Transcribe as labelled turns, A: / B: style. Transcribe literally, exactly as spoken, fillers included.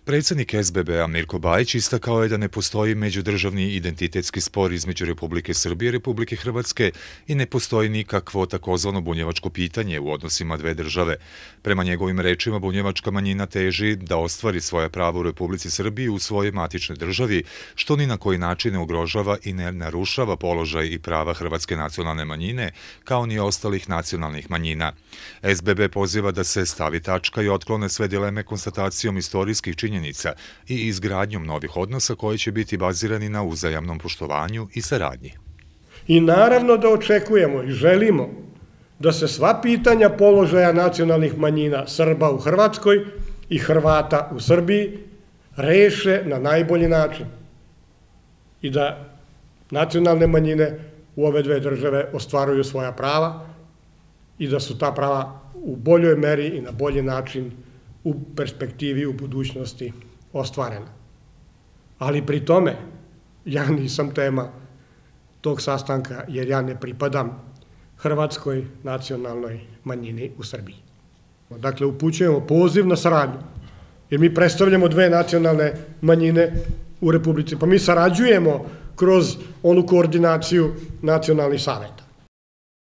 A: Predsjednik S B B-a Mirko Bajić istakao je da ne postoji međudržavni identitetski spor između Republike Srbije i Republike Hrvatske i ne postoji nikakvo takozvano bunjevačko pitanje u odnosima dve države. Prema njegovim rečima, bunjevačka manjina teži da ostvari svoja prava u Republici Srbiji u svojoj matičnoj državi, što ni na koji način ne ugrožava i ne narušava položaj i prava hrvatske nacionalne manjine, kao ni ostalih nacionalnih manjina. S B B poziva da se stavi tačka i otklone sve dileme konstatacijom istorijskih činjenica i izgradnjom novih odnosa koji će biti bazirani na uzajamnom poštovanju i saradnji.
B: I naravno da očekujemo i želimo da se sva pitanja položaja nacionalnih manjina Srba u Hrvatskoj i Hrvata u Srbiji reše na najbolji način i da nacionalne manjine u ove dve države ostvaruju svoja prava i da su ta prava u boljoj meri i na bolji način u perspektivi, u budućnosti ostvarena. Ali pri tome ja nisam tema tog sastanka jer ja ne pripadam hrvatskoj nacionalnoj manjini u Srbiji. Dakle, upućujemo poziv na saradnju jer mi predstavljamo dve nacionalne manjine u Republici. Pa mi sarađujemo kroz onu koordinaciju nacionalnih saveta.